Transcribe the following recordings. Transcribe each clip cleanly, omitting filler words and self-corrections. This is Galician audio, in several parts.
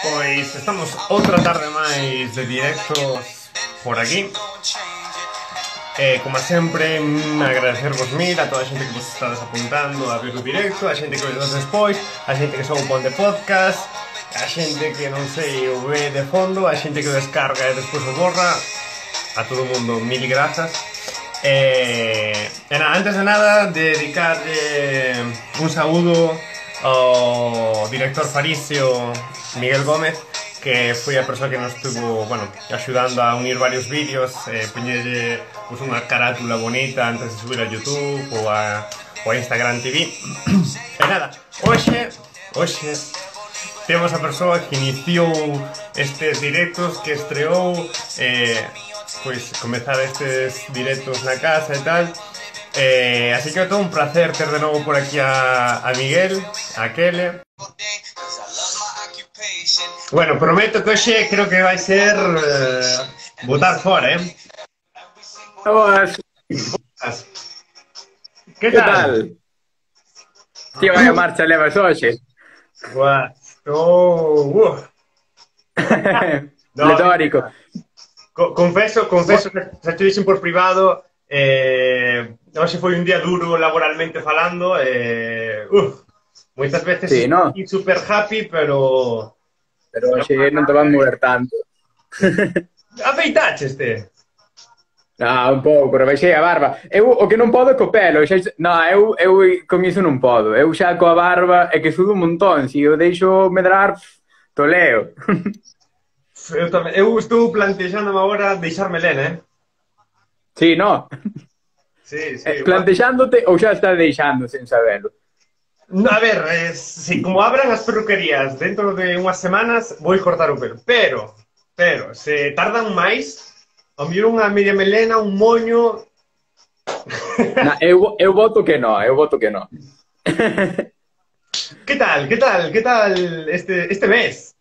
Pois estamos outra tarde máis de directos por aquí. Como sempre, agradecervos mil a toda a xente que vos estades apuntando a ver o directo, a xente que vedes despois, a xente que só o pon de podcast, a xente que non sei o ve de fondo, a xente que o descarga e despois o borra. A todo o mundo, mil grazas. Antes de nada, dedicarle un saúdo ao director faricio Miguel Gómez, que foi a persoa que nos estuvo, bueno, axudando a unir varios vídeos, poñelle pues, unha carátula bonita antes de subir a YouTube ou a Instagram TV. E nada, hoxe temos a persoa que iniciou estes directos, que estreou pois comezar estes directos na casa e tal. Así que é todo un placer ter de novo por aquí a Miguel, a Kele. Bueno, prometo que hoxe creo que vai ser botar fora, Boas. Que tal? Tío, vaya marcha levas hoxe. Boas. No, Pletórico. Confeso que xa te dixen por privado, hoxe foi un día duro laboralmente falando, moitas veces Sí, no? super happy, pero hoxe non te van mover tanto. afeitaches te. Un pouco, rebaixei a barba. Eu o que non podo é co pelo. Eu con iso non podo. Eu xa coa barba é que sudo un montón. Se eu deixo medrar, toleo. Eu tamén. Eu estou plantexándome agora deixar melena, Sí, no? Sí. Plantexándote ou xa estás deixando sen sabelo? A ver, si como abran as perruquerías dentro de unhas semanas, vou cortar o pelo. Pero, se tardan máis, ao mellor unha media melena, un moño... Eu voto que no. Que tal este mes?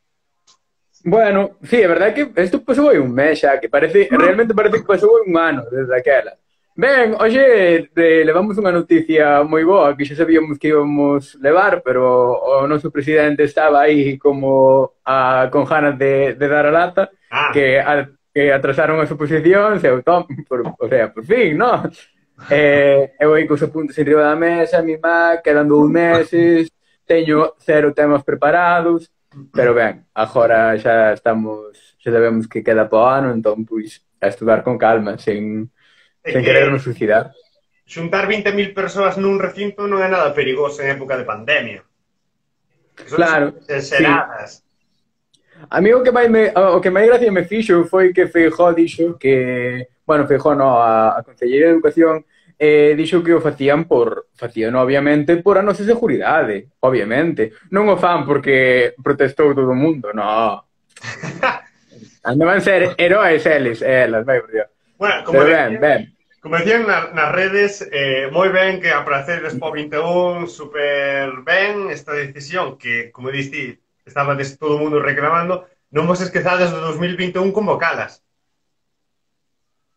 Bueno, sí, é verdade que isto pasou aí un mes xa, que realmente parece que pasou un ano desde aquela. Ben, hoxe levamos unha noticia moi boa que xa sabíamos que íbamos levar, pero o noso presidente estaba aí como con ganas de dar a lata, que atrasaron as oposicións, por fin, non? Eu aí cos apuntes en riba da mesa, quedan 2 meses, teño 0 temas preparados, pero ben, agora xa sabemos que queda po ano, entón, pois, a estudar con calma, sen querernos suicidar. Xuntar 20.000 persoas nun recinto non é nada perigoso en época de pandemia. Claro, xeradas. A mí o que máis gracia me fixo foi que Feijóo dixo que... Bueno, Feijóo no, a Conselleira de Educación dixo que o facían obviamente por a nosa seguridade, obviamente. Non o fan porque protestou todo o mundo, no. Andaban ser heróis elas, vai por Dios. Bueno, como decían nas redes, moi ben que a pracedes po 21, super ben esta decisión que, como diste, estaba todo o mundo reclamando, non vos esquezades do 2021 convocalas.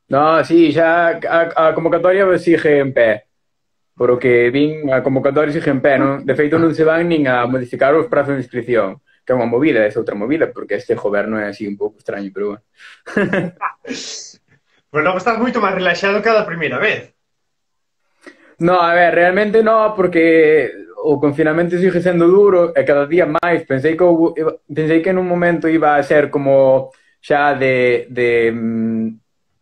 No, sí, xa a convocatoria sigue en pé. Por o que vin, a convocatoria sigue en pé, non? De feito non se van nin a modificar os prazos de inscripción, que é unha movida, é outra movida, porque este goberno é así un pouco extraño, pero bueno. Pues logo estás moito máis relaxado que a da primeira vez. No, a ver, realmente no, porque o confinamento sigue sendo duro e cada día máis. Pensei que nun momento iba a ser como xa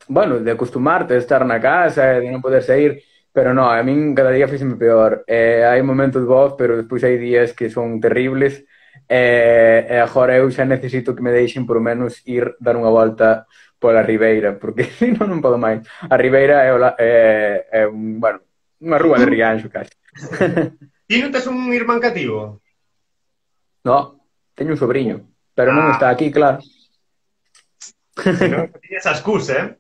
bueno, de acostumarte a estar na casa, de non poder sair, pero no, a min cada día fíxeme peor. Hai momentos bons, pero despois hai días que son terribles, e agora eu xa necesito que me deixen por menos ir dar unha volta pola Ribeira, porque non podo máis. A Ribeira é unha rúa de Rianxo, casi. Ti non tes un irmán cativo? No, teño un sobriño, pero non está aquí, claro. Se non tiñas a excusa,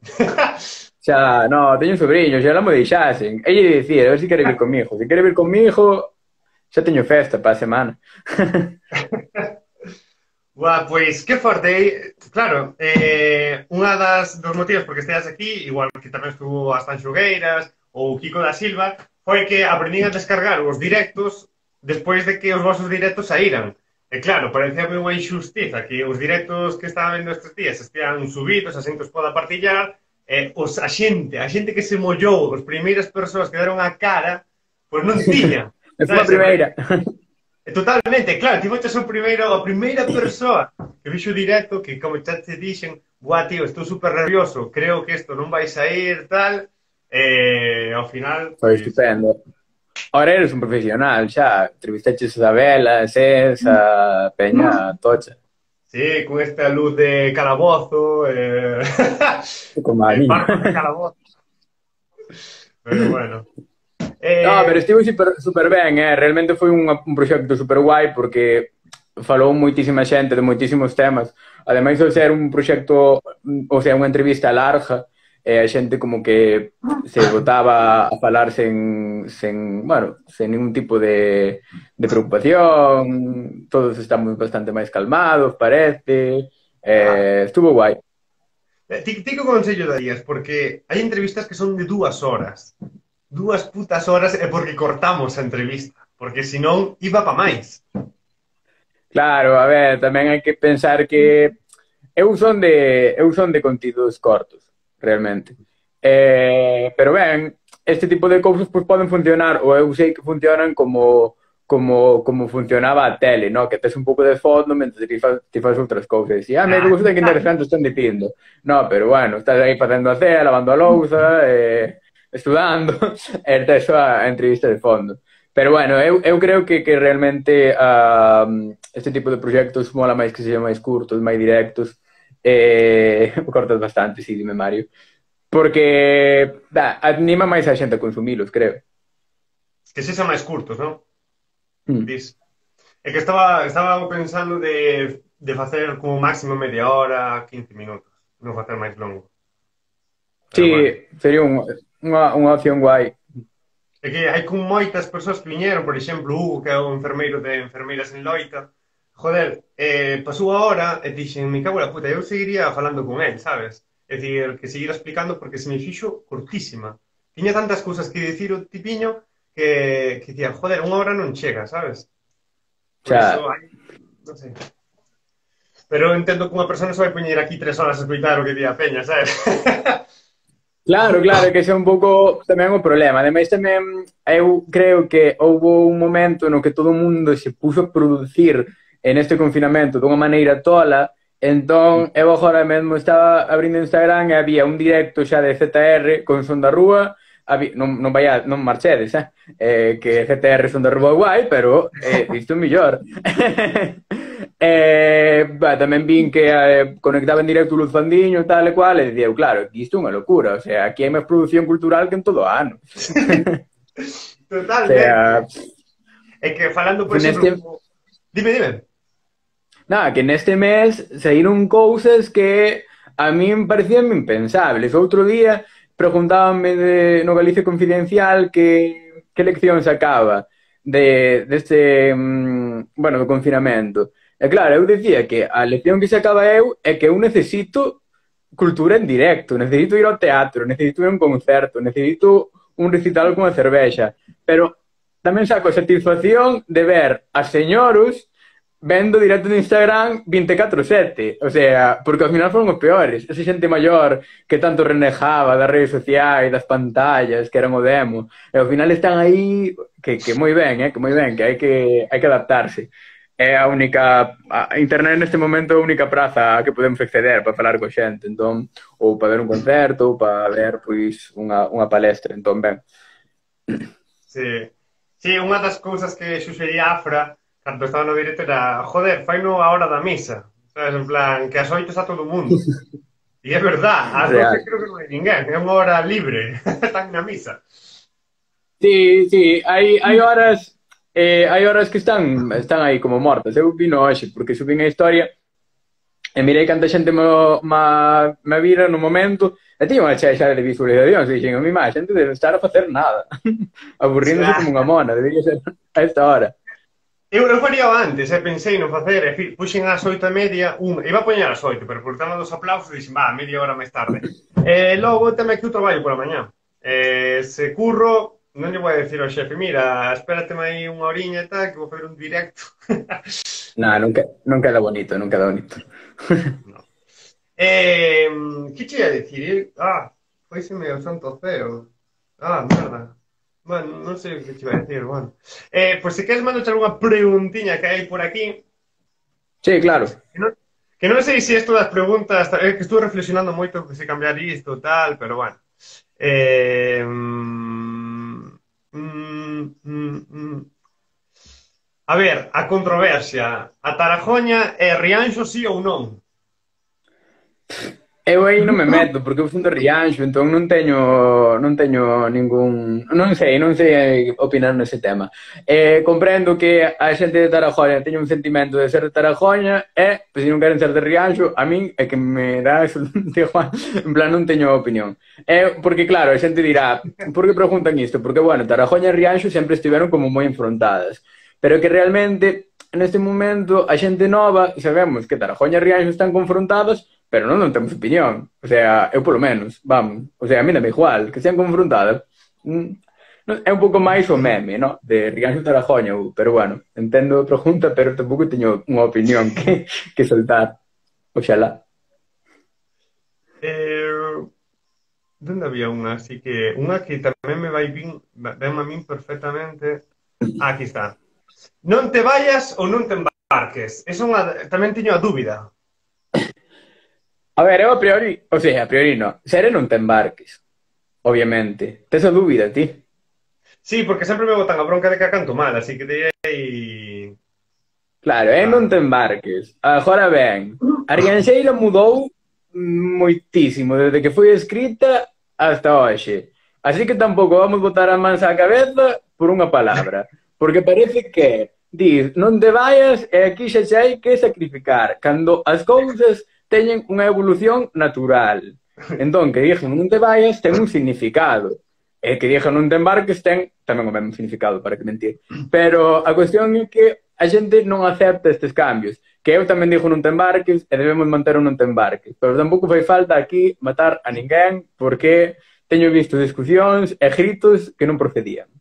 Xa, no, teño un sobriño, xa la mo deixasen. Ella dicía, a ver se quere vir comigo. Se quere vir comigo, xa teño festa para a semana. Pois, que forte. Claro, unha dos motivos por que esteas aquí, igual que tamén estuvo as Tanxugueiras ou Kiko da Silva, foi que aprendín a descargar os directos despois de que os vosos directos saíran. E claro, parecía unha injustiza que os directos que estaban vendo estes días estean subidos, a xente os poda partillar, a xente que se mollou, as primeiras persoas que deron a cara, pois non tiñan, Eu fui a sabes? primeira. Totalmente, claro, ti foches o primeiro, a primeira persoa que fixo o directo, que como xa te dixen, buah, tío, estou super nervioso, creo que isto non vai sair, tal, ao final, Foi pois, estupendo. Ahora eres un profesional, xa. Entrevistaches a Isabela, a César, a Peña, a Tocha. sí, con esta luz de calabozo, Como a mí. barcos de calabozo, pero bueno. No, pero Eh, estivo super ben, realmente foi un proxecto super guai porque falou moitísima xente de moitísimos temas. Ademais de ser un proxecto, o sea, unha entrevista larga, a xente como que se botaba a falar bueno, sen ningún tipo de preocupación, todos estamos bastante máis calmados, parece, ah, estuvo guai. ti que consello darías? Porque hai entrevistas que son de 2 horas. 2 putas horas é porque cortamos a entrevista. Porque senón iba pa máis. Claro, a ver, tamén hai que pensar que eu son de contidos cortos, realmente. Pero ben, este tipo de cousas pois, poden funcionar, ou eu sei que funcionan como funcionaba a tele, no? Que tes un pouco de fondo mentre ti faz outras cousas. E, me Ah, gusta que interesante están dicindo. No, pero bueno, estás aí facendo a cea, lavando a louza, estudando, e tes a entrevista de fondo. Pero bueno, eu creo que realmente este tipo de proxectos mola máis que sexan máis curtos, máis directos. Cortas bastante, sí, dime Mario. Porque anima máis a xente a consumilos, creo. que se xa máis curtos, non? Mm. Dis. É que estaba pensando de facer como máximo media hora, 15 minutos. Non facer máis longo. Pero Sí, bueno. sería unha opción guai. É que hai con moitas persoas que viñeron, por exemplo, Hugo, que é o enfermeiro de Enfermeiras en Loita. Joder, pasou a hora e dixen, me cago na puta, eu seguiría falando con él, sabes? É dicir, que seguir explicando porque se me fixo cortísima. Tiña tantas cousas que dicir o tipiño que dicía, joder, 1 hora non chega, sabes? Por iso, Xa, hai, non sei. Pero eu entendo que unha persona se vai poñer aquí 3 horas a escoitar o que di a peña, sabes? claro, claro, que ese é un pouco tamén o problema. Ademais, tamén eu creo que houve un momento no que todo o mundo se puxo a producir en este confinamento dunha maneira tola. Entón, eu agora mesmo estaba abrindo Instagram e había un directo xa de ZR con Son da Rúa. Non marchedes, que ZR Son da Rúa guai, pero isto é mellor. Tamén vin que conectaba en directo Luz Fandiño, tal e cual, e dicía, claro, isto é unha locura, o sea, aquí hai máis produción cultural que en todo o ano. O Totalmente. sea, É que falando, por que exemplo, neste, como... Dime. nada, que neste mes saíron cousas que a min parecían impensables. Outro día preguntábanme no Galicia Confidencial que lección sacaba deste, bueno, do confinamento. E claro, eu dicía que a lección que sacaba eu é que eu necesito cultura en directo, necesito ir ao teatro, necesito ir a un concerto, necesito un recital con a cervexa, pero tamén saco a satisfacción de ver a señoros vendo directo de Instagram 24/7, o sea, porque ao final foron os peores, esa xente maior que tanto renegaba das redes sociais, das pantallas, que eran o demo, e ao final están aí que moi ben, que moi ben, que hai que adaptarse. É a única, a internet neste momento é a única praza a que podemos acceder para falar co xente, entón, ou para ver un concerto, ou para ver, pois, unha palestra, entón, ben. Sí. Sí, unha das cousas que suxería Afra cando estaba no directo era, joder, faino a hora da misa. Sabes, en plan, que ás 8 está todo o mundo. E é verdad, ás 12 Real. creo que non hai ninguén, é unha hora libre, están na misa. Sí, sí, hai horas que están aí como mortas. Eu vino hoxe, porque subín a historia e mirei canta xente me vira no momento e tiña unha chea xa de visualizacións e dixen, a mi má, xente debe estar a facer nada aburríndose como unha mona, debería ser a esta hora. Eu faría antes, pensei no facer, puxen ás 8:30, iba a poñer ás 8, pero por tema dos aplausos dixen, media hora máis tarde. Logo tamén que eu traballo pola mañá. Se curro, non lle vou a decir ao xefe, mira, espérate aí unha horiña e tal, que vou fazer un directo. No, non queda bonito, non queda bonito. No. Que che ia dicir? Foiseme o santo ceo. Merda. Bueno, non sei o que che iba a decir, bueno. Pois se queres mando algunha preguntiña que hai por aquí. Sí, claro. Que non sei se isto das preguntas, que estuve reflexionando moito que se cambiar isto e tal, pero bueno. A ver, a controversia. A Tarajoña é Rianxo sí ou non? Eu aí non me meto, porque eu son de Rianxo, entón non teño ningún... Non sei opinar nese tema. Comprendo que a xente de Tarajoña teña un sentimento de ser de Tarajoña e, pois, se non queren ser de Rianxo, a min é que me dá absolutamente igual, en plan, non teño opinión. Porque, claro, a xente dirá, por que preguntan isto? Porque, bueno, Tarajoña e Rianxo sempre estiveron como moi enfrontadas, pero que realmente, neste momento, a xente nova, sabemos que Tarajoña e Rianxo están confrontadas, pero non temos opinión. O sea, eu polo menos, vamos. O sea, a mí dame igual, que sean confrontadas. É un pouco máis o meme, ¿no? De Rianxo e Tarajoña, pero bueno, entendo a pregunta, pero tampouco teño unha opinión que soltar. Oxalá. Donde había unha? Así que unha que tamén me vai ben a min perfectamente. Aquí está. Non te vayas ou non te embarques. Esa tamén teño a dúbida. A ver, eu a priori, o sea, a priori no. Sere non te embarques, obviamente. Tes a dúbida, ti? Sí, porque sempre me botan a bronca de que a canto mal, así que direi... Claro, non te embarques. Agora ben, a Rianxeira mudou moitísimo desde que foi escrita hasta hoxe. Así que tampouco vamos botar a mans á cabeza por unha palabra. Porque parece que dis, non te vayas e aquí xa hai que sacrificar. Cando as cousas teñen unha evolución natural. Entón, que dixen non te vayas ten un significado. E que dixen non te embarques ten tamén o mesmo significado, para que mentir. Pero a cuestión é que a xente non acepta estes cambios. Que eu tamén dixo non te embarques e debemos manter un non te embarques. Pero tampouco fai falta aquí matar a ninguén porque teño visto discusións e gritos que non procedían.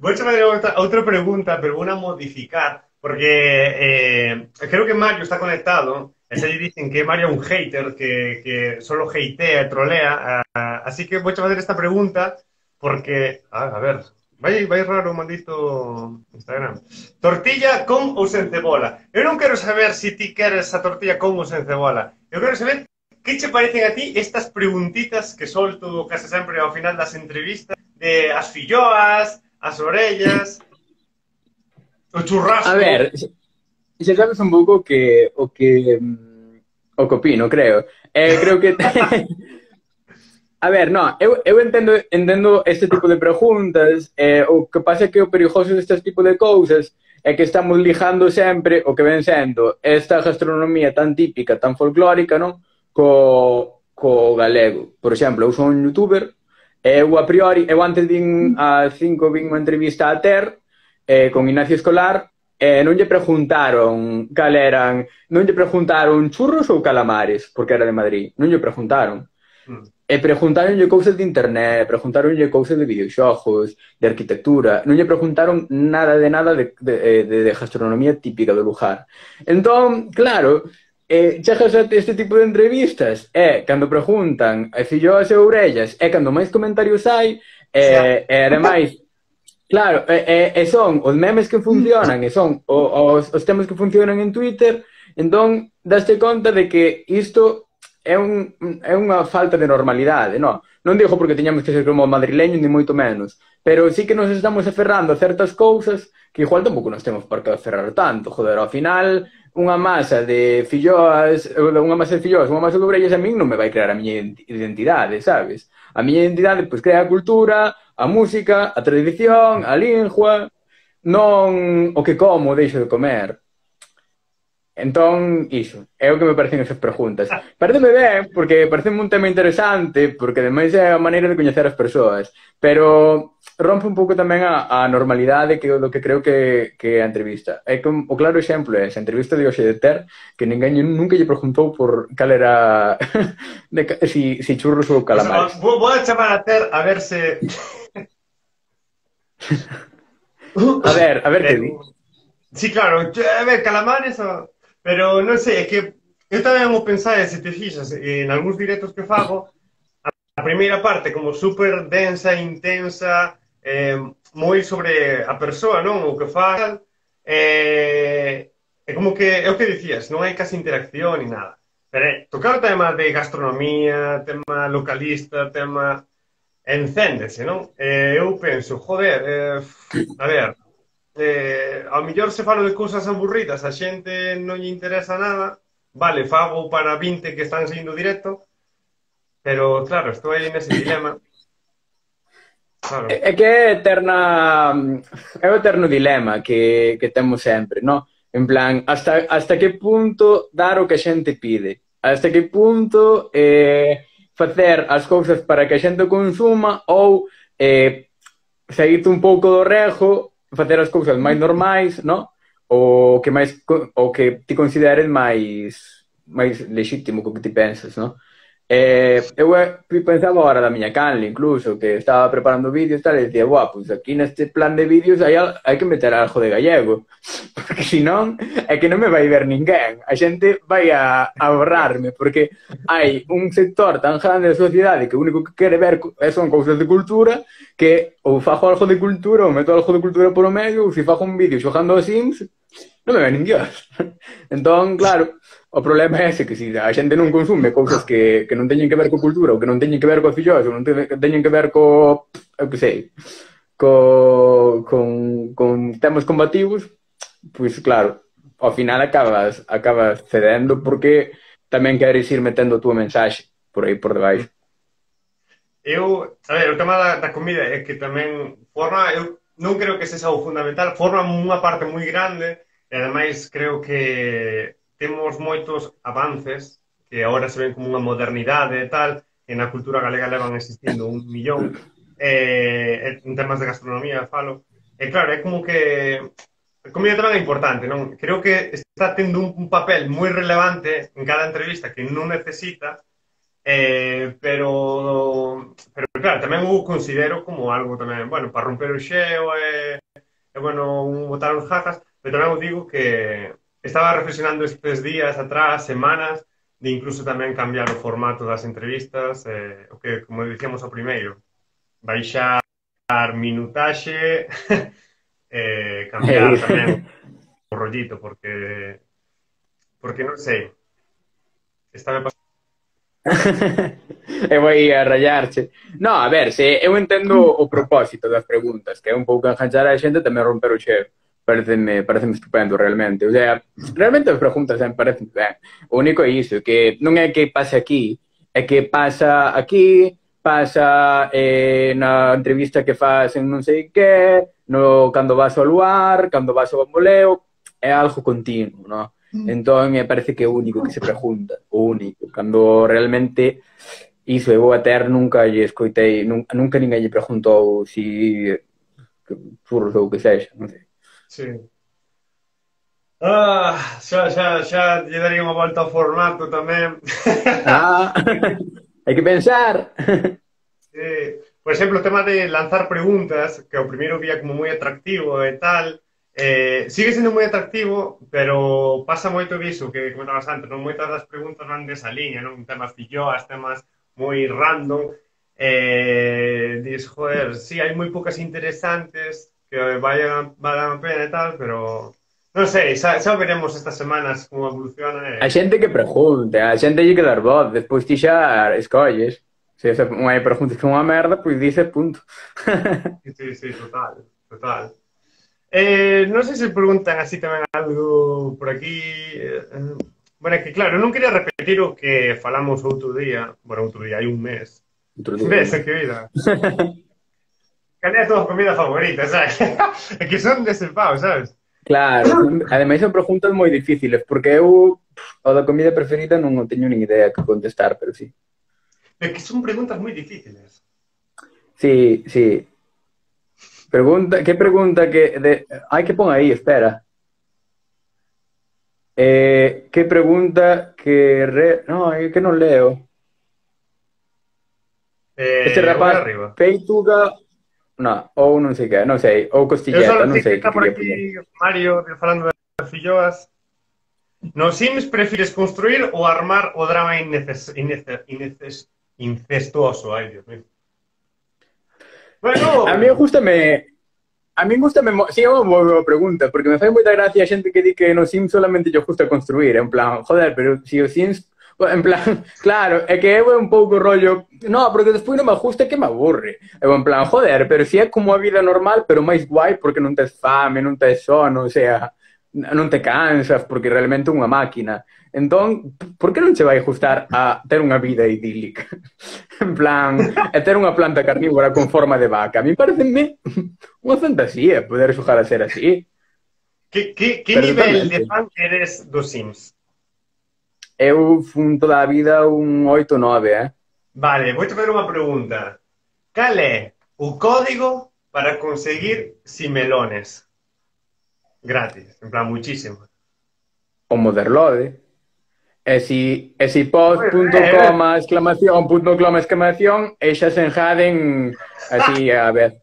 Vou fazer outra pregunta, pero vou modificar, porque creo que Mario está conectado, e se dicen que Mario é un hater, que solo hatea e trolea, así que vou fazer esta pregunta, porque, a ver, vai raro o maldito Instagram. Tortilla con ou sen cebola? Eu non quero saber se ti queres a tortilla con ou sen cebola. Eu quero saber que che parecen a ti estas preguntitas que solto case sempre ao final das entrevistas, de as filloas, as orellas, o churrasco. A ver, xa sabes un pouco o que opino, creo. Creo que... A ver, no, eu entendo este tipo de preguntas, o que pasa é que o perigoso destes tipo de cousas é que estamos lijando sempre o que ven sendo esta gastronomía tan típica, tan folclórica, non? Co galego. Por exemplo, eu son un youtuber, eu a priori, eu antes vin a 5 vin unha entrevista a Ter con Ignacio Escolar e non lle preguntaron cal eran, non lle preguntaron churros ou calamares, porque era de Madrid, non lle preguntaron. E preguntaronlle cousas de internet, preguntaronlle cousas de videoxogos, de arquitectura, non lle preguntaron nada de gastronomía típica do lugar. Entón, claro, chegas a este tipo de entrevistas e cando preguntan filloas e orellas e cando máis comentarios hai e ademais claro, e son os memes que funcionan e son os temas que funcionan en Twitter, entón daste conta de que isto é unha falta de normalidade, non? Non digo porque teñamos que ser como madrileños ni moito menos, pero sí que nos estamos aferrando a certas cousas que igual tampouco nos temos por que aferrar tanto, joder, ao final unha masa de filloas, unha masa de orellas a min non me vai crear a miña identidade, sabes? A miña identidade, pois, crea a cultura, a música, a tradición, a lingua, non o que como ou deixo de comer. Entón, iso, é o que me parecen esas preguntas. Pareceme ben, porque pareceme un tema interesante, porque ademais é a maneira de coñecer as persoas, pero rompe un pouco tamén a normalidade que do que creo que é a entrevista. É que o claro exemplo é esa entrevista de hoxe de Ter, que ninguén nunca lle preguntou por cal era si churros ou Pues, calamares. voy a chamar a Ter a ver se... A ver que di. Pero, sí, claro, a ver, calamares, pero non sei, é que eu tamén o pensaba, se te fixas, en algúns directos que fago, a primeira parte como super densa, intensa, moi sobre a persoa, non? O que faz, é como que, é o que dicías, non hai casi interacción ni nada. Pero tocar o tema de gastronomía, tema localista, tema encéndese, non? Eu penso, joder, a ver, ao mellor se falo de cousas aburridas, a xente non lle interesa nada, vale, fago para 20 que están seguindo directo, pero claro, estou aí nese dilema, claro. É que é eterna, é o eterno dilema que temos sempre, no? En plan, hasta que punto dar o que a xente pide? Hasta que punto facer as cousas para que a xente consuma ou saírte un pouco do rego, facer as cousas máis normais, no? O que ti consideres máis lexítimo co que ti pensas, no? Eu pensaba agora da miña canle, incluso, que estaba preparando vídeos e tal, e dicía, buah, pues aquí neste plan de vídeos hai que meter algo de gallego, porque senón é que non me vai ver ninguén, a xente vai a borrarme, porque hai un sector tan grande da sociedade que o único que quere ver son cousas de cultura, que ou fago algo de cultura, ou meto algo de cultura por o medio, ou se fago un vídeo xogando a Sims, non me ve nin Dios. Entón, claro, o problema é ese, que se a xente non consume cousas que non teñen que ver co cultura, ou que non teñen que ver co fillos, ou non teñen que ver eu que sei, con temas combativos, pois claro, ao final acabas cedendo porque tamén queres ir metendo a túa mensaxe por aí por debaixo. A ver, o tema da comida é que tamén forma, eu non creo que sexa o fundamental, forma unha parte moi grande, e ademais creo que temos moitos avances que agora se ven como unha modernidade e tal, e na cultura galega levan existindo 1 millón, en temas de gastronomía falo, e claro, é como que a comida tamén é importante, non? Creo que está tendo un papel moi relevante en cada entrevista que non necesita, pero claro, tamén o considero como algo tamén, bueno, para romper o xeo bueno, botar os jajas, pero tamén o digo que estaba reflexionando estes días atrás, semanas, de incluso tamén cambiar o formato das entrevistas, o que, como dicíamos ao primeiro, baixar minutaxe, cambiar tamén o rollito, porque non sei, está me pasando. E vai a rayarche. No, a ver, se eu entendo o propósito das preguntas, que é un pouco enganchar a xente tamén romper o xeo. Pareceme estupendo, realmente. O sea, realmente as preguntas me parecen ben. O único é iso, que non é que pase aquí, é que pasa aquí, pasa na entrevista que faz en non sei que, no, cando vas ao luar, cando vas ao bamboleo, é algo continuo, no? Entón, me parece que é o único que se pregunta, o único. Cando realmente iso eu a Ter nunca lle escoitei, nunca ninguén lle preguntou si churros ou que sexa, non sei. Sí. Xa lle daría unha volta ao formato tamén. Hai que pensar. Por exemplo, o tema de lanzar preguntas, que ao primeiro día como moi atractivo e tal, sigue sendo moi atractivo, pero pasa moito diso que comentabas antes, non? Moitas das preguntas van desa liña, non? Temas filloas, temas moi random, dis, joder, sí, hai moi poucas interesantes que vayan a pena e tal, pero non sei, xa veremos estas semanas como evoluciona. A xente que pregunte, a xente lle que dar voz, despois ti xa escolles. Se esa unha pregunta que é unha merda, pois dices punto. Sí, total. Non sei se preguntan así tamén algo por aquí. Bueno, é que claro, non quería repetir o que falamos outro día, hai un mes. Ves, que vida. Cal é a tua comida favorita, sabes? É que son dese pau, sabes? Claro, ademais son preguntas moi difíciles, porque eu o da comida preferida non o teño nin idea que contestar, pero sí. Es que son preguntas muy difíciles. Sí, sí. Pregunta, que pregunta que de... Ai, que pon aí, espera. Que pregunta que No, é que non leo. Este Voy rapaz, arriba. peituga... No, ou non sei que, non sei. Ou Eu costilleta, solo non sei que sei que está por quería poñer. aquí Mario falando de filloas. Nos Sims prefires construir ou armar o drama incestuoso? Ai, Dios mío. A mí Bueno, gustame... A mí gustame... Sí, é unha boa pregunta, porque me fai moita gracia a xente que di que no Sims solamente lle gusta construir. En plan, joder, pero si o Sims... En plan, claro, é que eu é un pouco rollo... No, porque despois non me gusta que me aburre. Eu en plan, joder, pero si é como a vida normal, pero máis guai porque non tes fame, non tes sono, o sea, non te cansas, porque realmente é unha máquina. Entón, por que non che vai gustar a ter unha vida idílica? En plan, é ter unha planta carnívora con forma de vaca. A mí pareceme unha fantasía poder xogar a ser así, que pero nivel de totalmente. fan eres dos Sims? Eu fun toda a vida un 8 9, eh? Vale, vou te fazer unha pregunta. Cal é o código para conseguir simelones gratis? En plan, muchísimo. O Motherlode. E si Moi ben. post.com exclamación, punto coma exclamación, e xa se enjaden así a ver.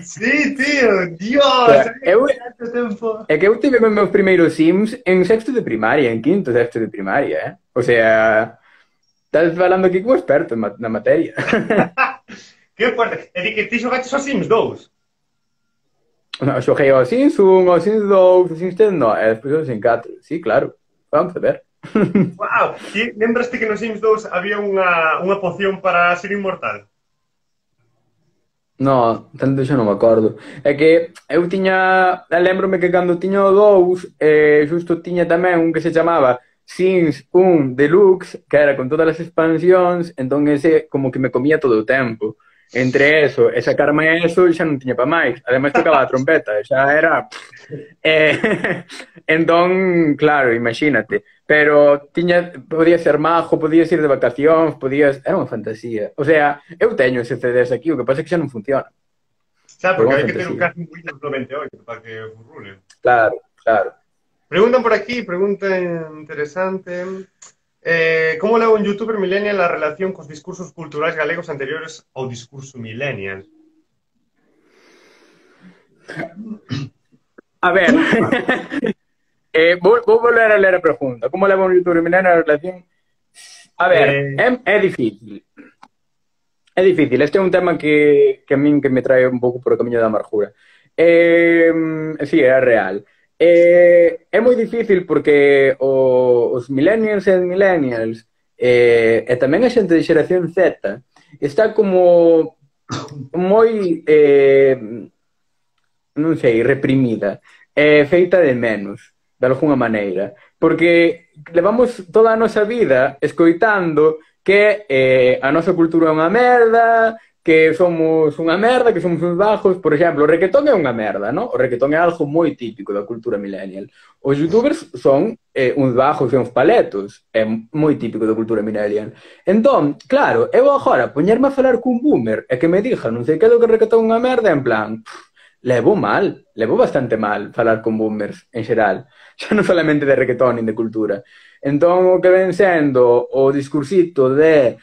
Sí, tío, O Dios, sea, había tanto tiempo. é que eu tive os meus primeiros Sims en sexto de primaria, en quinto, sexto de primaria, eh? O sea, estás falando aquí como experto na materia. Que fuerte. É dicir, que ti xogaste os Sims 2. No, xoguei ao Sims 1, ao Sims 2, ao Sims 3, no, e despois ao Sims 4. Sí, claro. Vamos a ver. Wow. Ti lembraste que no Sims 2 había unha poción para ser inmortal? No, tanto xa non me acordo. É que eu tiña... Lembrome que cando tiña o 2, xusto tiña tamén un que se chamaba Sims 1 Deluxe, que era con todas as expansións, entón ese como que me comía todo o tempo. Entre eso e sacarme eso xa non tiña pa máis. Ademais tocaba a trompeta, xa era... entón, claro, imagínate. Pero tiña, podías ser majo, podías ir de vacacións, podías... Era unha fantasía. O sea, eu teño ese CDs aquí, o que pasa é que xa non funciona. Xa, Pero porque unha hai que ter un fantasía. caso en Windows 98 para que furrule. Claro, claro. Preguntan por aquí, pregunta interesante. Como leva un youtuber millennial a relación cos discursos culturais galegos anteriores ao discurso millennial? A ver, vou volver a ler a pregunta. Como leva un youtuber milenario a relación? A ver, Eh, é difícil. É difícil. Este é un tema que a min que me trae un pouco por o camiño da amargura. Sí, é real. É moi difícil porque os millennials e millennials e tamén a xente de xeración Z está como moi non sei, reprimida, feita de menos, de alguna maneira, porque levamos toda a nosa vida escoitando que a nosa cultura é unha merda, que somos unha merda, que somos uns bajos. Por exemplo, o reggaetón é unha merda, ¿no? O reggaetón é algo moi típico da cultura millennial. Os youtubers son uns bajos e uns paletos, é moi típico da cultura millennial. Entón, claro, eu agora poñerme a falar cun boomer e que me dixa non sei que do que reggaetón é unha merda, en plan, levo bastante mal falar con boomers en xeral, xa non solamente de reggaetón nin de cultura. Entón, o que ven sendo o discursito de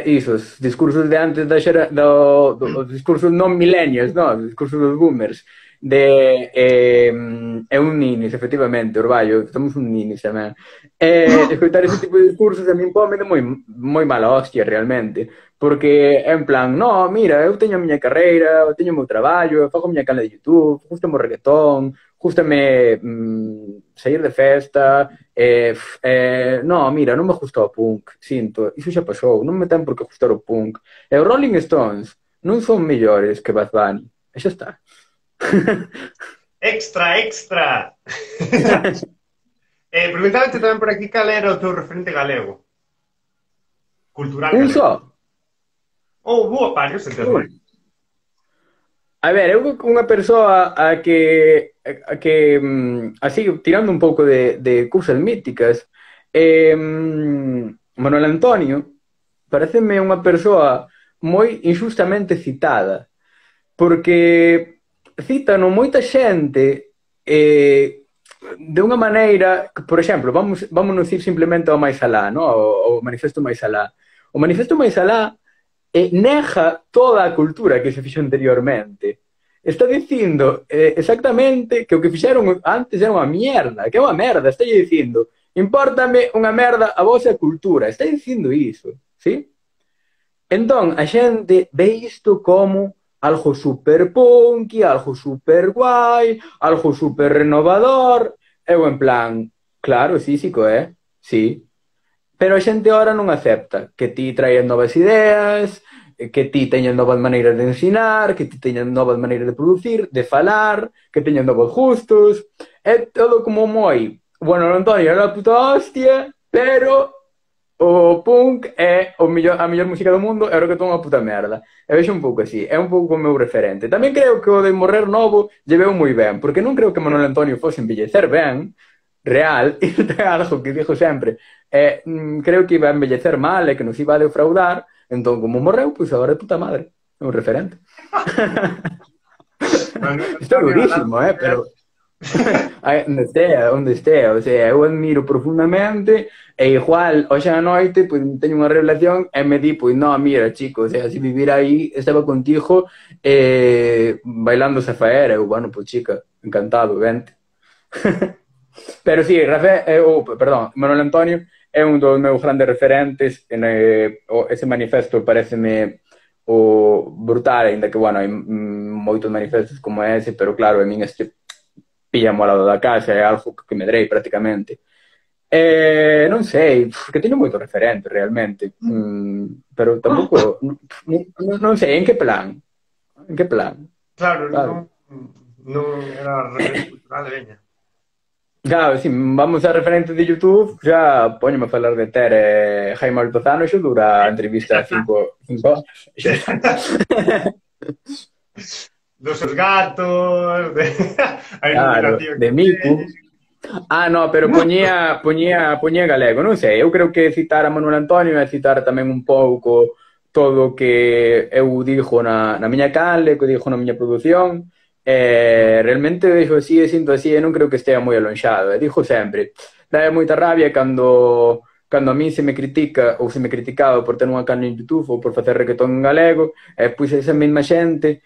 isos discursos de antes os discursos non millennials, no, os discursos dos boomers, é un ninis, efectivamente, Orballo, estamos un ninis tamén. Escoitar ese tipo de discursos a min pome de moi mala hostia, realmente. Porque é en plan, no, mira, eu teño a miña carreira, eu teño o meu traballo, eu fago a miña canal de YouTube, gustame o reggaetón, gustame sair de festa, no, mira, non me gusta o punk, sinto, iso xa pasou, non me ten por que gustar o punk. E os Rolling Stones non son mellores que Bad Bunny, e xa está. extra, extra! Preguntábate tamén por aquí cal era o teu referente galego. Cultural Un galego. só. Ou boa varios, se tes Uh, máis. A ver, eu unha persoa a que así, tirando un pouco de cousas míticas, Manuel Antonio pareceme unha persoa moi injustamente citada, porque citan moita xente de unha maneira que, por exemplo, vamos dicir simplemente ao máis alá, no? O Manifesto máis alá. O Manifesto máis alá nega toda a cultura que se fixo anteriormente. Está dicindo exactamente que o que fixeron antes era unha mierda, que é unha merda, está dicindo, impórtame unha merda a vosa cultura, está dicindo iso, ¿sí? Entón, a xente ve isto como algo super punky, algo super guai, algo super renovador, eu en plan, claro, sí, sí que é, sí, pero a xente ahora non acepta que ti traes novas ideas, que ti teñas novas maneiras de ensinar, que ti teñas novas maneiras de producir, de falar, que teñas novos gustos. É todo como moi... Bueno, Antonio era a puta hostia, pero o punk é a mellor música do mundo, era o que ton unha puta merda. E vexo un pouco así, é un pouco o meu referente. Tamén creo que o de morrer novo lle veu moi ben, porque non creo que Manuel Antonio fose envellecer ben, real, e ten algo que dixo sempre, creo que iba a envellecer mal e que nos iba a defraudar, entón como morreu, pois agora é puta madre, é un referente. Manuel Isto é Antonio, durísimo, pero onde estea, o sea, eu admiro profundamente e igual, hoxe a noite, pois teño unha revelación e me di, pois, no, mira, chico, o sea, se vivir aí, estaba contigo bailando Zafaera, eu, bueno, pois, chica, encantado, vente. Pero sí, perdón, Manuel Antonio é un dos meus grandes referentes, ese manifesto pareceme o brutal, ainda que, bueno, hai moitos manifestos como ese, pero claro, a min este píllamo ao lado da casa, é algo que medrei prácticamente. Non sei, que teño moito referente realmente, pero tampouco, non sei, en que plan? En que plan? Claro, Claro. non era referente cultural de veña. Claro, si vamos a referentes de YouTube, xa poñome a falar de Ter Jaime Altozano, xo dura a entrevista 5 horas. Dos seus gatos, de a Claro, iluminación de que Miku. teñen. No, pero poñía galego, non sei, eu creo que citar a Manuel Antonio é citar tamén un pouco todo o que eu dixo na miña canle, que dixo na miña produción, realmente dixo así e sinto así e non creo que estea moi alonxado, e dixo sempre, dá moita rabia cando a mí se me critica ou se me criticaba por ter unha canle en YouTube ou por facer reggaetón en galego, pois esa mesma xente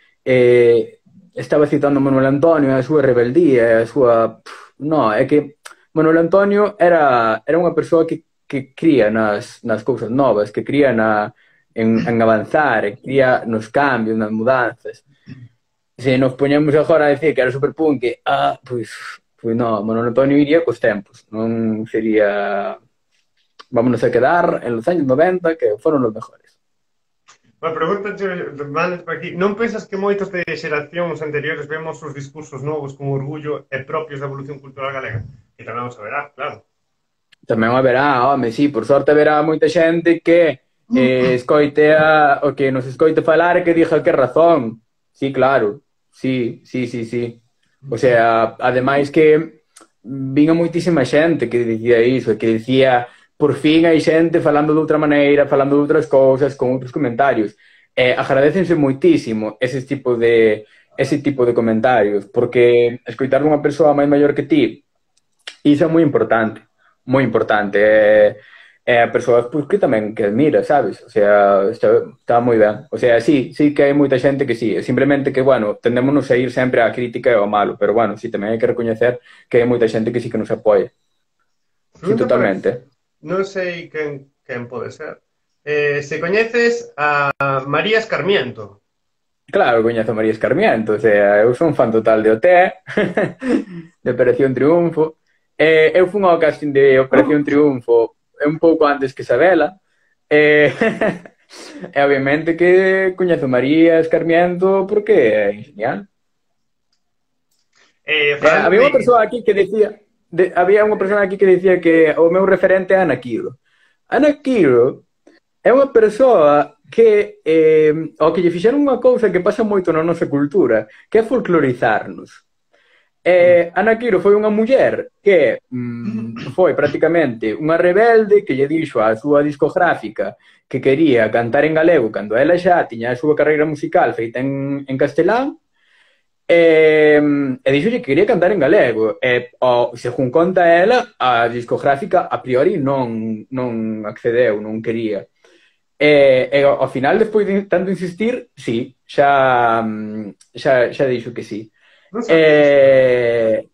estaba citando a Manuel Antonio, a súa rebeldía, a súa... No, é que Manuel Antonio era unha persoa que cría nas cousas novas, que cría en avanzar, cría nos cambios, nas mudanzas. Se nos poñemos agora a decir que era superpunk, pois no, Manuel Antonio iría cos tempos, non sería... Vámonos a quedar en los años 90, que foron los mejores. Bueno, pregúntache, mandas por aquí, non pensas que moitos de xeracións anteriores vemos os discursos novos con orgullo e propios da evolución cultural galega? Que tamén vamos a verá, claro. Tamén haberá, home, sí, por sorte haberá moita xente que o que nos escoite falar e que diga que razón. Sí, claro. Sí, sí, sí, sí. O sea, ademais que vinha moitísima xente que dicía iso, que dicía por fin hai xente falando de outra maneira, falando de outras cousas, con outros comentarios. Agradécense moitísimo ese tipo de comentarios, porque escoitar unha persoa máis maior que ti, iso é moi importante, moi importante. A persoa pues, que tamén que admira, sabes? O sea, está moi ben. O sea, sí que hai moita xente que sí, simplemente que, bueno, tendémonos a ir sempre á crítica e ao malo, pero, bueno, sí, tamén hai que recoñecer que hai moita xente que sí que nos apoia. Sí, totalmente. Non sei quen pode ser. Se coñeces a María Escarmiento. Claro, coñezo a María Escarmiento, o sea, eu son fan total de OT, de Operación Triunfo. Eu fui ao casting de Operación Triunfo un pouco antes que Sabela, e obviamente que coñezo a María Escarmiento porque é genial. Había unha persoa aquí que decía que o meu referente é Ana Quiro. Ana Quiro é unha persoa que ao que lle fixeron unha cousa que pasa moito na nosa cultura, que é folclorizarnos. Ana Quiro foi unha muller que foi prácticamente unha rebelde que lle dixo á súa discográfica que quería cantar en galego cando ela xa tiña a súa carreira musical feita en castelán, e dixo que quería cantar en galego, según conta ela, a discográfica a priori non accedeu, non quería. Ao final, despois de tanto insistir, sí, xa dixo que sí. Non sabía isto.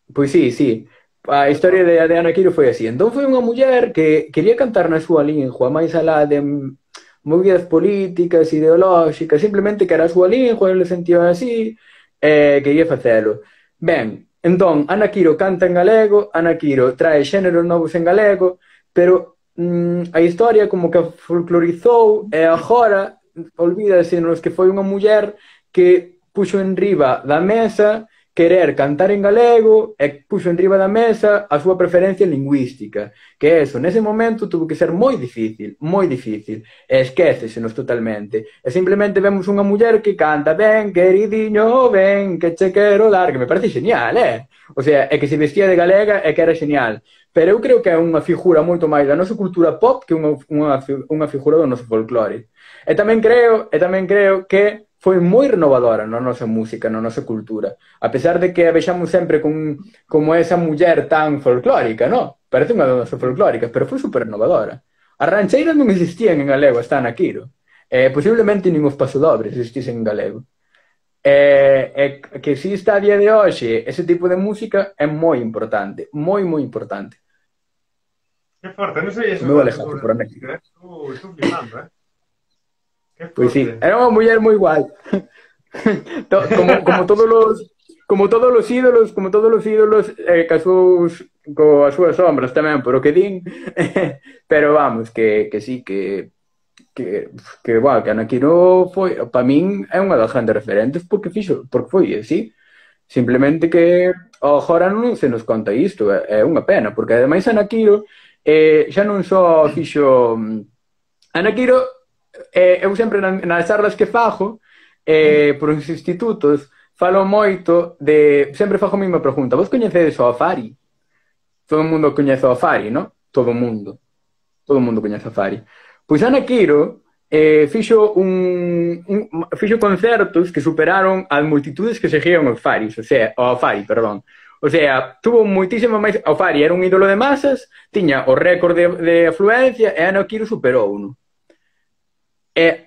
Pois sí, sí. A historia de Ana Quiro foi así. Entón foi unha muller que quería cantar na súa lingua, máis alá de movidas políticas, ideolóxicas, simplemente que era a súa lingua, ele sentía así, quería facelo. Ben, entón, Ana Quiro canta en galego, Ana Quiro trae xéneros novos en galego, pero a historia como que a folclorizou e agora olvídase nos que foi unha muller que puxo en riba da mesa querer cantar en galego e puxo en riba da mesa a súa preferencia lingüística, que eso, nese momento, tuvo que ser moi difícil, e esquécesenos totalmente. E simplemente vemos unha muller que canta ben, queridiño, ben, que che quero dar, que me parece genial, O sea, é que se vestía de galega e que era genial. Pero eu creo que é unha figura moito máis da nosa cultura pop que unha figura do noso folclore. E tamén creo que foi moi renovadora na nosa música, na nosa cultura. A pesar de que a vexamos sempre como esa muller tan folclórica, no? Parece unha das nosas folclóricas, pero foi super renovadora. As rancheiras non existían en galego, hasta na Quiro. Posiblemente nin os pasodobles existisen en galego. Que exista a día de hoxe ese tipo de música é moi importante, moi importante. Que forte, non sei O eso meu da Alejandro cultura por aquí. música, estou flipando, Que Pois sí, forte. era unha muller moi guai. Como todos os ídolos, casou coas súas sombras tamén, por o que din. Pero vamos, que sí, bueno, que Ana Quiro foi, para min é unha das grandes referentes porque foi así. Simplemente que agora non se nos conta isto, é unha pena, porque ademais Ana Quiro xa non só fixo Ana Quiro, eu sempre nas charlas que fago por os institutos falo moito de, sempre fago a mesma pregunta, vos coñecedes o Afari? Todo o mundo coñece o Afari, non? Todo o mundo coñece o Afari. Pois Ana Quiro fixo concertos que superaron as multitudes que seguían os Faris, o Fari, perdón. O sea, tuvo moitísimo máis... O Fari era un ídolo de masas, tiña o récord de afluencia e Ana Quiro superou-no.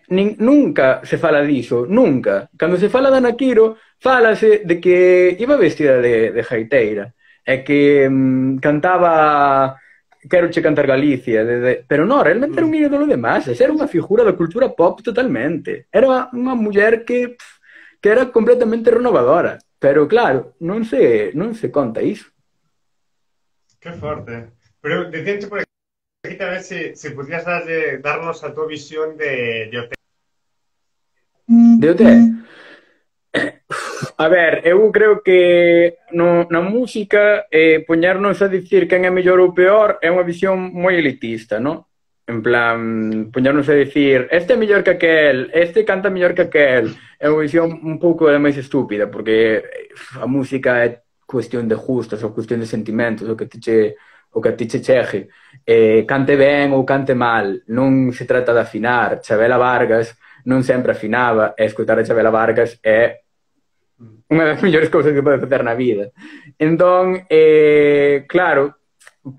Nunca se fala diso, nunca. Cando se fala de Ana Quiro, fálase de que iba vestida de gaiteira e que cantaba Quero che cantar Galicia, pero non, realmente era un ídolo de masas, era unha figura da cultura pop totalmente. Era unha muller que era completamente renovadora, pero claro, non se conta iso. Que forte. Pero decíanche por aquí tamén se podías darnos a tua visión de OT. De OT? A ver, eu creo que na música poñernos a dicir quen é mellor ou peor é unha visión moi elitista, non? En plan, poñernos a dicir este é mellor que aquel, este canta mellor que aquel, é unha visión un pouco máis estúpida, porque a música é cuestión de gustos, ou cuestión de sentimentos, o que a ti che chegue. Cante ben ou cante mal, non se trata de afinar. Chabela Vargas non sempre afinaba, e escoitar a Chabela Vargas é unha das mellores cousas que pode facer na vida. Entón, claro,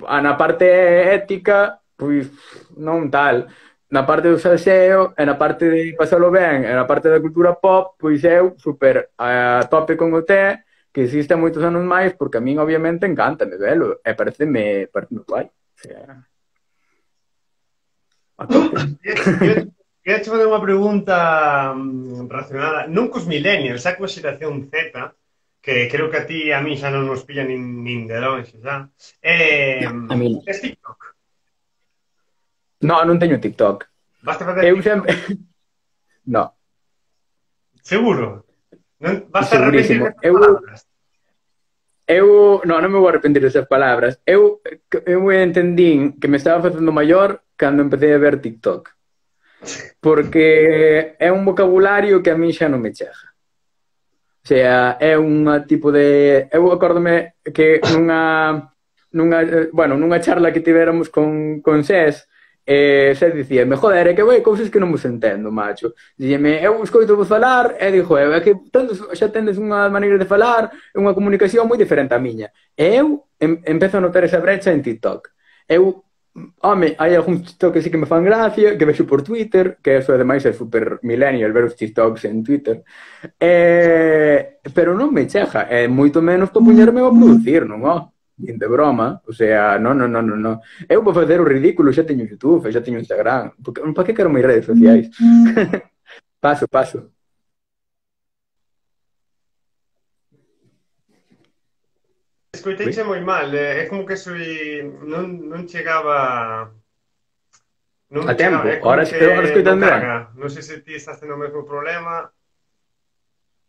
na parte ética, pois non tal. Na parte do salseo, e na parte de pasalo ben, e na parte da cultura pop, pois eu super a tope con o té, que existe moitos anos máis, porque a min obviamente encántame velo, e pareceme guai. O sea, a tope. Queria te fazer unha pregunta relacionada, non cos millennials, xa coa xeración Z, que creo que a ti e a mí xa non nos pilla nin de longe, xa. A mí Es TikTok? non teño TikTok. Vas a facer Eu TikTok? sempre... No. Seguro? Vas a arrepentir destas palabras? Non me vou arrepentir desas palabras. Eu entendín que me estaba facendo maior cando empecé a ver TikTok. porque é un vocabulario que a mí xa non me chega. O sea, é un tipo de... Eu acórdome que nunha charla que tivéramos con SES, SES dicíame, joder, é que vai cousas que non vos entendo, macho. Dicíame, eu escoito vos falar, e dixo, é que xa tendes unha maneira de falar, unha comunicación moi diferente á miña. E eu empezo a notar esa brecha en TikTok. Eu Home, hai algúns TikTok que sí que me fan gracia, que vexo por Twitter, que eso ademais é super millennial ver os TikToks en Twitter. Pero non me chega, e moito menos para poñerme a producir, non, nin de broma, o sea, non. Eu vou facer o ridículo, xa teño YouTube, xa teño Instagram, para que quero máis redes sociais? Paso. Escoiteiche moi mal, é como que non chegaba... Non A me tempo, chegaba, é como que agora non escoitando ben. carga. Non sei se ti estás tendo o mesmo problema.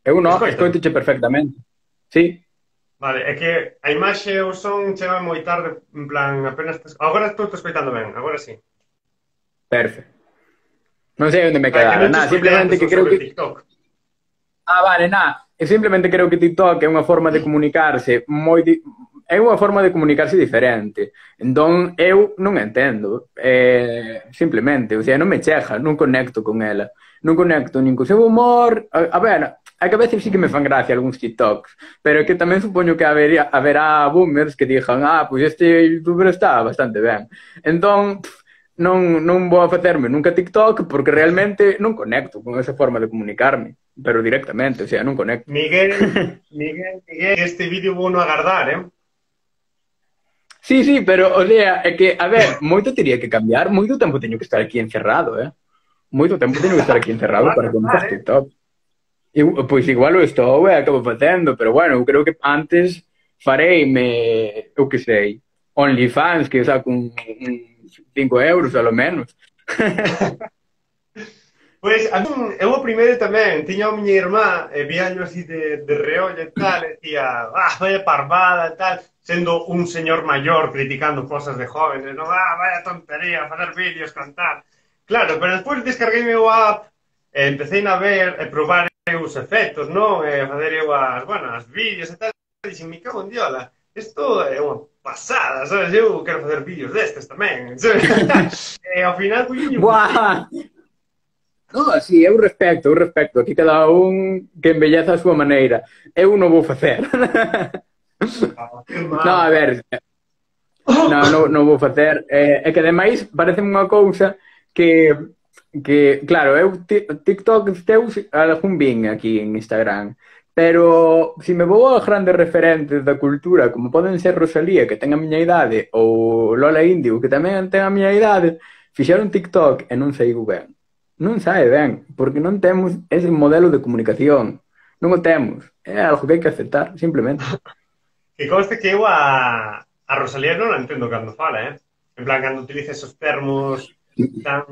Eu non, Escoita. escoitoche perfectamente. Sí, Vale, é que a imaxe e o son chega moi tarde, en plan, apenas... Agora estou te escoitando ben, agora sí. perfecto. Non sei onde me Ah, que quedara, non te escoitei simplemente antes que creo sobre que... TikTok. Vale, eu simplemente creo que TikTok é unha forma de comunicarse é unha forma de comunicarse diferente. Entón, eu non entendo. Simplemente, o sea, non me chega, non conecto con ela. Non conecto nin co seu humor. A ver, a que a veces sí que me fan gracia algúns TikToks, pero que tamén supoño que haberá boomers que digan, pois este youtuber está bastante ben. Entón, non vou a facerme nunca TikTok porque realmente non conecto con esa forma de comunicarme, pero directamente, o sea, non conecto. Miguel, este vídeo vou non agardar, Sí, pero, o sea, é que, a ver, moito teria que cambiar, moito tempo teño que estar aquí encerrado, moito tempo teño que estar aquí encerrado para comenzar TikTok. Pois igual o estou e acabo facendo, pero bueno, eu creo que antes fareime, eu que sei, OnlyFans, que saco un 5 euros, a lo menos. Pois, a min, eu o primeiro tamén, tiña a miña irmá, e víaño así de reollo e tal, e dicía, vaya parvada e tal, sendo un señor maior criticando cosas de jóvenes, non, vaya tontería, facer vídeos, cantar. Claro, pero despois descarguei o app, e empecé a ver, e probar os efectos, non? E fazer eu as vídeos e tal, e dixen, me cago en diola, isto é unha pasada, sabes? Eu quero facer vídeos destes tamén, sabes? E ao final, Buah! No, sí, eu respecto. Aquí cada un que embelleza a súa maneira. Eu non vou facer. No, a ver, non vou facer. É que ademais parece unha cousa que claro, eu TikTok teus algún vin aquí en Instagram, pero se me vou a grandes referentes da cultura, como poden ser Rosalía, que ten a miña idade, ou Lola Índigo, que tamén ten a miña idade, fixeron TikTok e non saiu ben. Non sae ben, porque non temos ese modelo de comunicación. Non o temos. É algo que hai que aceptar, simplemente. Que conste que eu a Rosalía non a entendo cando fala, En plan, cando utiliza esos termos tan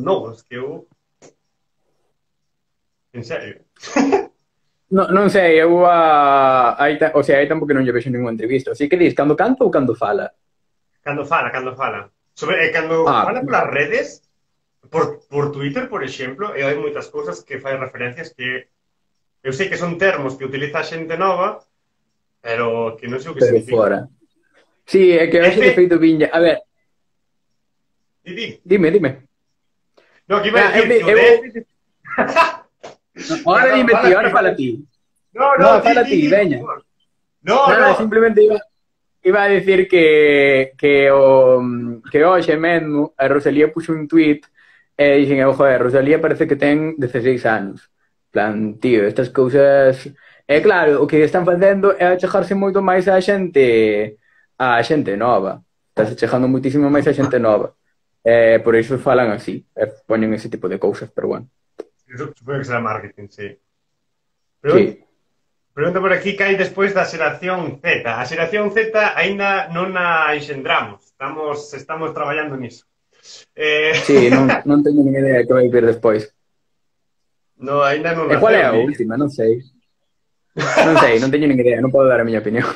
novos que eu... En serio. Non sei, eu o sea, hai tempo que non lle vexo ninguna entrevista. Así que dis, cando canta ou cando fala? Cando fala. Cando fala polas redes, por Twitter, por exemplo, e hai moitas cousas que fai referencias que eu sei que son termos que utiliza a xente nova, pero que non sei o que significa. Fora. Sí, é que hoxe de feito viña... A ver... Dime. No, que iba a dicir... Ahora dime ti, ahora fala ti. No, fala ti, veña. No. Simplemente iba a decir que hoxe mesmo a Rosalía puxo un tweet e dixen, joder, Rosalía parece que ten 16 anos. Plan, tío, estas cousas... claro, o que están facendo é achegarse moito máis á xente nova. Estás achegando moitísimo máis á xente nova. Por iso falan así, poñen ese tipo de cousas, pero bueno. Supongo que será marketing, sí. Sí. Pregunta por aquí que hai despois da xeración Z. A xeración Z aínda non a enxendramos. Estamos traballando niso. Sí, non teño nin idea de que vai vir despois. No, aínda non. E qual é a última? Non sei, non teño nin idea, non podo dar a miña opinión.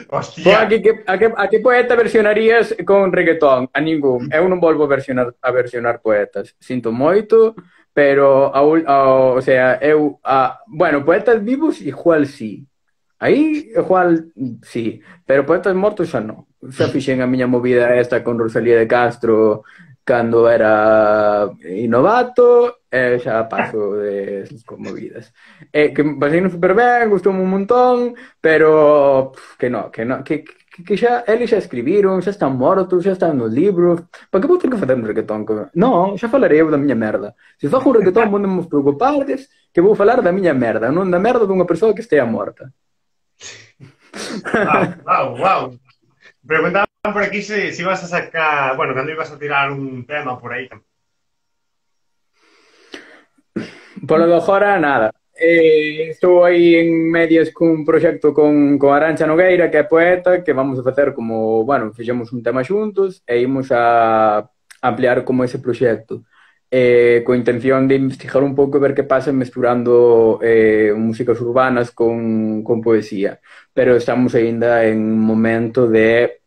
Hostia. A que poeta versionarías con reggaetón? A ningún. Eu non volvo a versionar poetas. Sinto moito, pero o sea, bueno, poetas vivos igual sí. Aí igual sí, pero poetas mortos xa non. Xa fixen a miña movida esta con Rosalía de Castro cando era novato, e xa paso de esas movidas. Que pasei super ben, gustoume un montón, pero que no, que xa eles xa escribiron, xa están mortos, xa están nos libros. Para que vou ter que facer un reggaetón? Non, xa falarei eu da miña merda. Se fago un reggaetón, non me preocupardes que vou falar da miña merda, non da merda dunha persoa que estea morta. Wow, wow, wow. Preguntaban por aquí si ibas a sacar, bueno, cuando ibas a tirar un tema por ahí. Polo do agora, nada. Estou aí en medias cun proxecto con Arantxa Nogueira, que é poeta, que vamos a facer como, bueno, fixemos un tema xuntos e imos a ampliar como ese proxecto. Coa intención de investigar un pouco e ver que pasa mesturando músicas urbanas con poesía. Pero estamos aínda en un momento de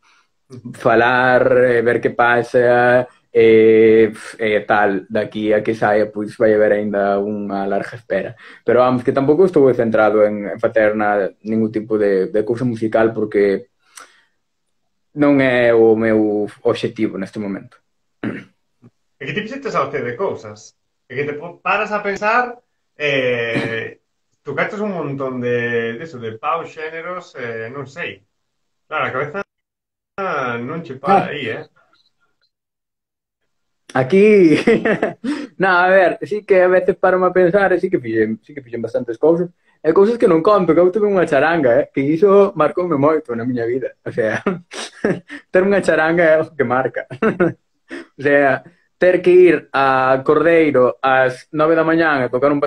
falar, ver que pasa, tal, daqui a que saia, pois vai haber aínda unha larga espera. Pero vamos, que tampouco estou centrado en facer ningún tipo de cousa musical porque non é o meu obxectivo neste momento. É que ti fixetes a de cousas. É que te paras a pensar, tocaches un montón de eso, de paus, xéneros, non sei. Claro, a cabeza non che para aí, Aquí, no, a ver, sí que a veces paro a pensar, sí que fixen bastantes cousas, e cousas que non conto, que eu tuve unha charanga, que iso marcoume moito na miña vida, o sea, ter unha charanga é algo que marca, o sea, ter que ir a Cordeiro ás 9 da mañán e tocar un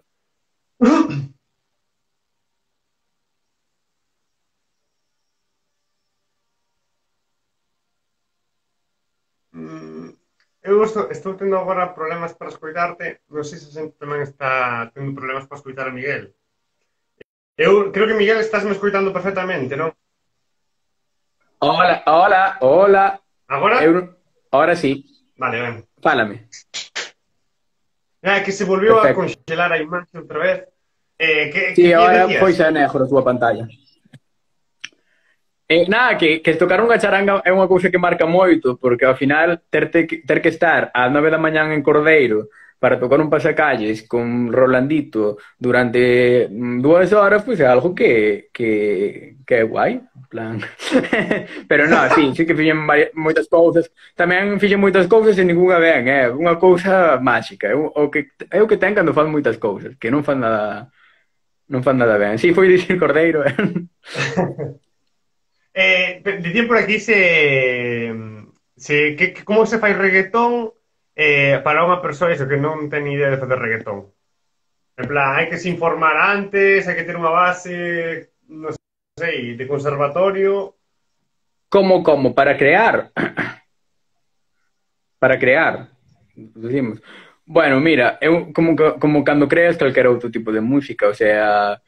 Eu estou tendo agora problemas para escoitarte. Non sei se a xente tamén está tendo problemas para escoitar a Miguel. Eu creo que Miguel estás me escoitando perfectamente, non? Hola, hola, hola. Agora? Ahora sí. Vale, ben. Fálame. É que se volveu a Perfecto. conxelar a imaxe outra vez. Sí, que ahora decías? pois é negro a túa pantalla. Nada, que tocar unha charanga é unha cousa que marca moito, porque ao final ter que estar ás 9 da mañán en Cordeiro para tocar un pasacalles con Rolandito durante 2 horas, pois é algo que é guai, en plan. Pero non, sí que fixen moitas cousas. Tamén fixen moitas cousas e ninguna ben, é unha cousa máxica. É o que ten cando fan moitas cousas, que non fan nada ben. Sí, foi dicir Cordeiro, Dicían por aquí como se fai reggaetón para unha persoa iso, que non ten idea de facer reggaetón. En plan, hai que se informar antes, hai que ter unha base, non sei, de conservatorio. como, para crear. Para crear. Decimos. Bueno, mira, eu como cando creas calquera outro tipo de música, o sea,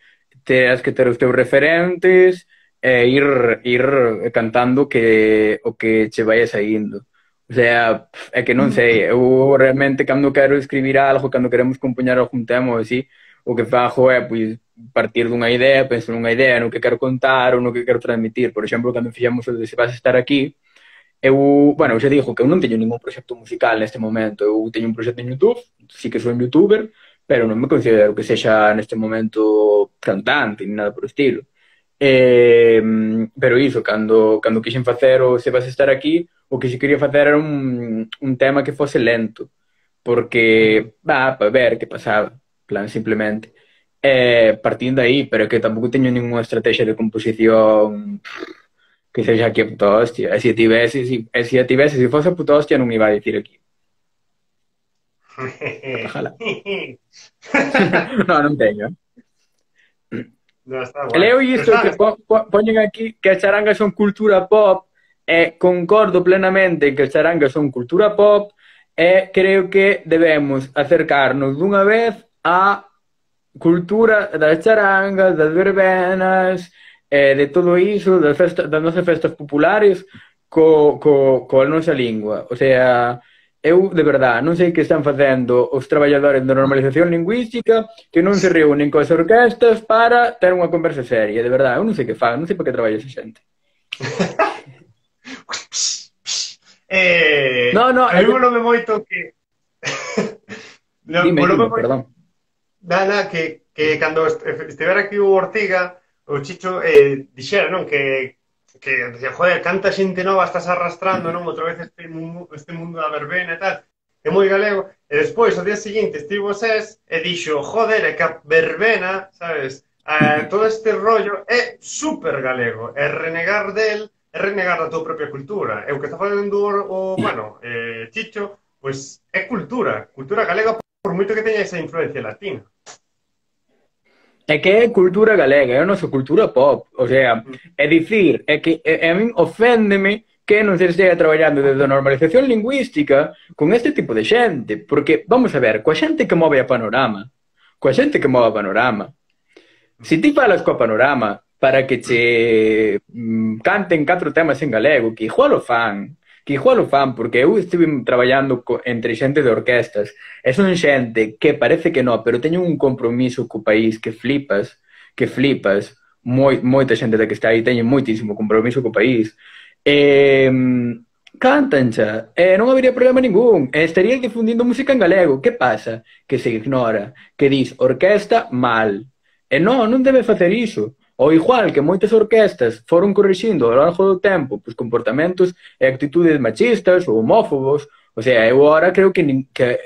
teas que ter os teus referentes e ir cantando o que che vai saindo. O sea, é que non sei, eu realmente cando quero escribir algo, cando queremos compoñer algún tema ou así, o que fago é pois partir dunha idea, penso nunha idea, no que quero contar ou no que quero transmitir. Por exemplo, cando fixemos o de Se vas a estar aquí, bueno, xa digo que eu non teño ningún proxecto musical neste momento. Eu teño un proxecto en YouTube, sí que sou un youtuber, pero non me considero que sexa neste momento cantante, ni nada por estilo. Pero iso, cando quixen facer o Se vas a estar aquí, o que se quería facer era un tema que fose lento, porque, para ver que pasaba, plan, simplemente. Partindo aí, pero que tampouco teño ninguna estrategia de composición que sexa aquí a puta hostia. E se a tivese, se fose a puta hostia, non iba a dicir aquí. Ojalá. non teño. No, está guai. Leo isto que poñen aquí que as charangas son cultura pop e concordo plenamente en que as charangas son cultura pop e creo que debemos acercarnos dunha vez á cultura das charangas, das verbenas, de todo iso, das nosas festas populares, coa nosa lingua. O sea, eu, de verdad, non sei que están facendo os traballadores de normalización lingüística que non se reúnen coas orquestas para ter unha conversa seria, de verdad, eu non sei que fan, non sei para que traballa esa xente. No, no, a mí volome moito que... dime, perdón. Nada, que cando estivera aquí o Ortiga, o Chicho dixera, non? Que decía, joder, canta xente nova estás arrastrando, non? Outra vez este mundo da verbena e tal. É moi galego. E despois, ao día seguinte, estivo Sés e dixo, joder, é que a verbena, sabes? Todo este rollo é super galego. É renegar del, é renegar da tua propia cultura. E o que está facendo bueno, Chicho, pois é cultura galega por moito que teña esa influencia latina. É que é cultura galega, é a nosa cultura pop. O sea, é dicir, é que a min oféndeme que non se esteja traballando desde a normalización lingüística con este tipo de xente. Porque, vamos a ver, coa xente que move a Panorama, se ti falas coa Panorama para que che canten 4 temas en galego, que igual o fan, porque eu estive traballando entre xente de orquestas, e son xente que parece que non, pero teñen un compromiso co país que flipas, moita xente da que está aí teñen moitísimo compromiso co país, cantan xa, e non habería problema ningún, e estaría difundindo música en galego. Que pasa? Que se ignora, que dis orquesta mal, e non debe facer iso. Ou igual que moitas orquestas foron corrixindo ao longo do tempo pois, comportamentos e actitudes machistas ou homófobos. O sea, eu agora creo que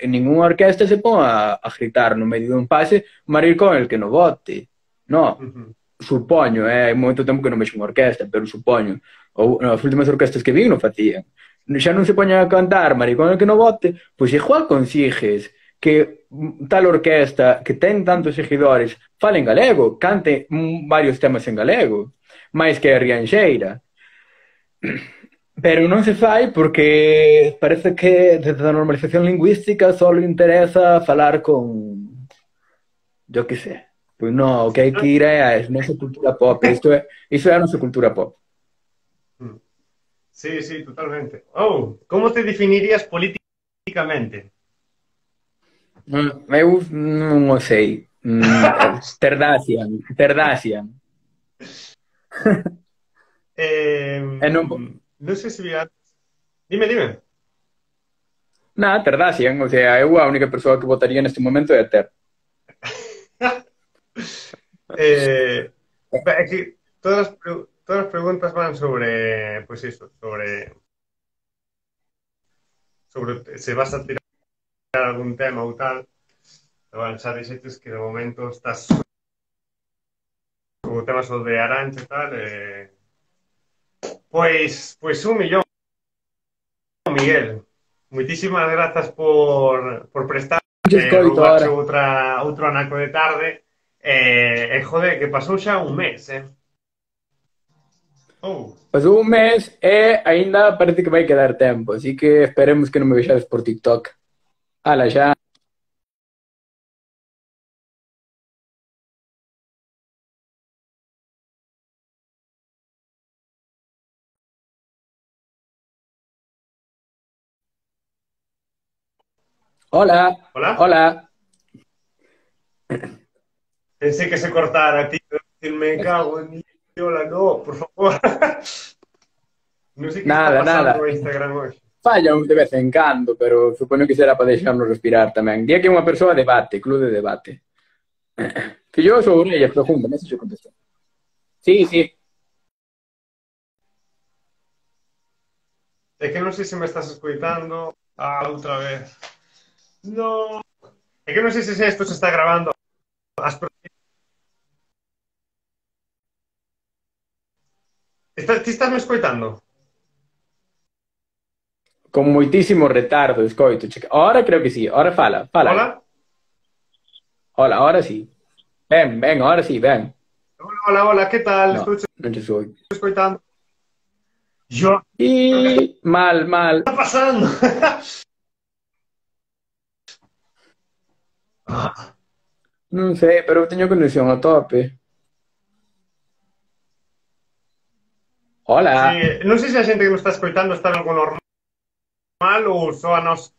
ninguna orquesta se pon a gritar no medio dun pase maricón el que no vote. No, supoño, hai moito tempo que non vexo unha orquesta, pero supoño. Ou as últimas orquestas que vi non facían. Xa non se poñan a cantar maricón el que no vote, pois igual consigues que tal orquesta que ten tantos seguidores fale en galego, cante varios temas en galego, máis que a Rianxeira. Pero non se fai porque parece que desde a normalización lingüística só interesa falar con... yo que sé. Pois non, o que hai que ir é a nosa cultura pop. Iso é a nosa cultura pop. Sí, totalmente. Como te definirías políticamente? Eu non o sei. Terdacian. Non sei se vi antes. Dime. Terdacian. O sea, eu a única persoa que votaría neste momento é a Ter. É que todas as preguntas van sobre, pois iso, sobre se vas a tirar algún tema ou tal. Bueno, xa dixetes que de momento estás o tema sobre Arancha e tal, pois un millón, Miguel. Moitísimas grazas por prestar outro anaco de tarde joder, que pasou xa un mes, Pasou un mes e aínda parece que vai quedar tempo, así que esperemos que non me vexades por TikTok. Ala, xa. Hola. Pensei que se cortara, tío. Me cago en mi hola, no, por favor. Non sei que está pasando no Instagram hoxe. Falla de vez en cando, pero supoño que será para deixarnos respirar tamén. Día que unha persoa debate, club de debate. Que yo sou orellas profundas, non sei se contestou. Sí. É que non sei se me estás escoitando. Outra vez. No. É que non sei se isto se está grabando. Ti estás me escoitando? Con moitísimo retardo, escoito. Ahora creo que sí, ahora fala. Hola, ahora sí. Ven, ahora sí, ven. Hola, que tal? Non te sou. Escoitando. Yo. Mal. ¿Qué está pasando? Non sei, pero teño conexión a tope. Hola. Non sei se a xente que nos está escoitando está en algo normal ou só a nos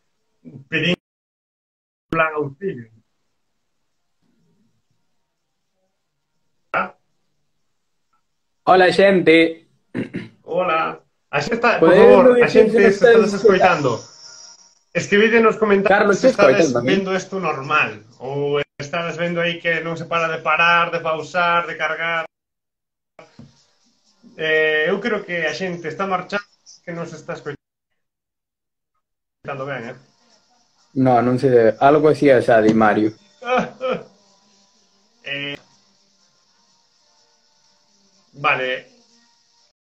pedindo plan auxilio. Ah, Hola, xente. hola. A xente está, por favor, Podedes a dicir se xente nos se estás estades escoitando? escoitando. Escribide nos comentarios Carlos, se te estades escoitando a mí? vendo isto normal ou estades vendo aí que non se para de parar, de pausar, de cargar. Eu creo que a xente está marchando que non se está escoitando ben, eh? No, non se debe. Algo así asá, di Mario. eh vale,